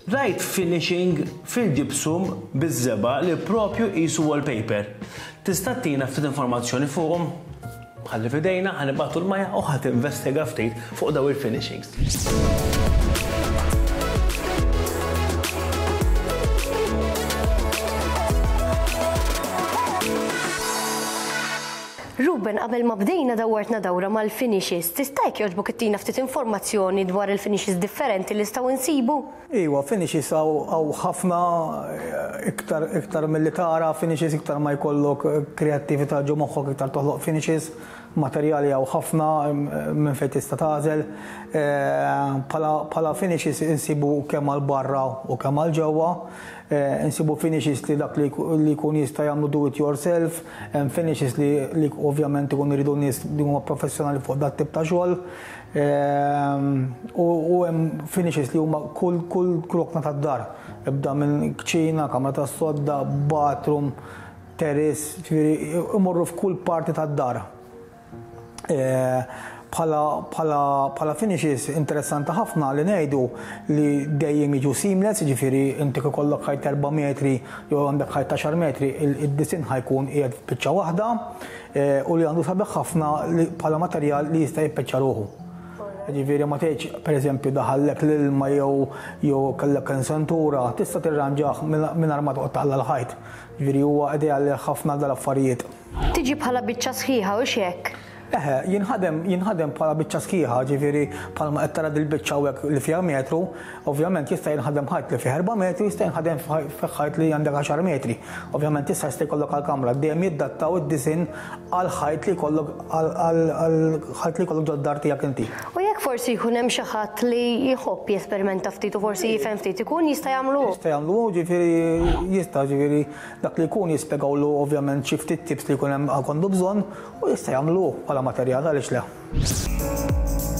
Rajt finishing fil-gypsum biż-żebgħa li propju qisu wallpaper. Tista' ttina ftit informazzjoni fuqhom? Ħalli f'idejna, ħa nibagħtu 'l Maja u ħa tinvestiga ftit fuq dawn il-finishings. Ruben, qabel ma bdejna dawwartna dawra mal-finishes. Tista' jekk jogħġbok ittina ftit informazzjoni dwar il-finishes differenti li nistgħu nsibu? Iwa, finishes hawn ħafna iktar iktar milli tara finishes iktar ma jkollok kreattività ġo moħħok iktar toħloq finishes, materjali hawn ħafna minn fejn tista' tagħżel. Bħala bħala finishes insibu kemm għal barra u kemm għal ġewwa. Insibu finishes li dak li jkun jista' jagħmlu do it yourself, hemm finishes li li ovvjament ikunu jridu nies li huma professjonali fuq dat-tip ta' xogħol. U hemm finishes li huma kull kull rokna tad-dar. Ibda minn kċina, kamra tas-sodda, bathroom, terrace, ġifieri imorru f'kull parti tad-dar. Bħala bħala bħala finishes interessanti ħafna li ngħidu li dejjem jiġu seamless, jiġifieri inti kif ikollok ħajt erba' metri jew għandek ħajt għaxar metri, id-disinn ħa jkun qiegħed f'biċċa waħda. U li għandu sabiħ ħafna li bħala materjal li jista' jippeċċa ruħu. Ġifieri ma tgħidx pereżempju daħallek l-ilma jew jew kellek insentura, tista' tirranġah mingħajr ma toqgħod taqla' l-ħajt. Ġifieri huwa ideali ħafna għal dal-affarijiet. Tiġi bħala biċċa sħiħa hux hekk? Eħe, jinħadem jinħadem bħala biċċa sħiħa, ġifieri bħalma qed tara dil-biċċa hawnhekk li fiha metru, ovvjament jista' jinħadem ħajt li fih erba' metri, jista' jinħadem f'ħajt li għandek għaxar metri. Ovvjament issa jista' jkollok għall-kamra, dejjem jiddattaw id-disinn għall-ħajt li jkollok għall-ħajt li jkollok ġod-dar tiegħek inti. U jekk forsi jkun hemm xi ħadd li jħobb jesperimenta ftit u forsi jifhem ftit, ikun jista' jagħmlu hu? Jista' jagħmlu hu, ġifieri jista' ġifieri dak li jkun jispjegawlu ovvjament xi ftit tips li jkun hemm għandu bżonn U jista' jagħmlu hu bħala materjal, għaliex le?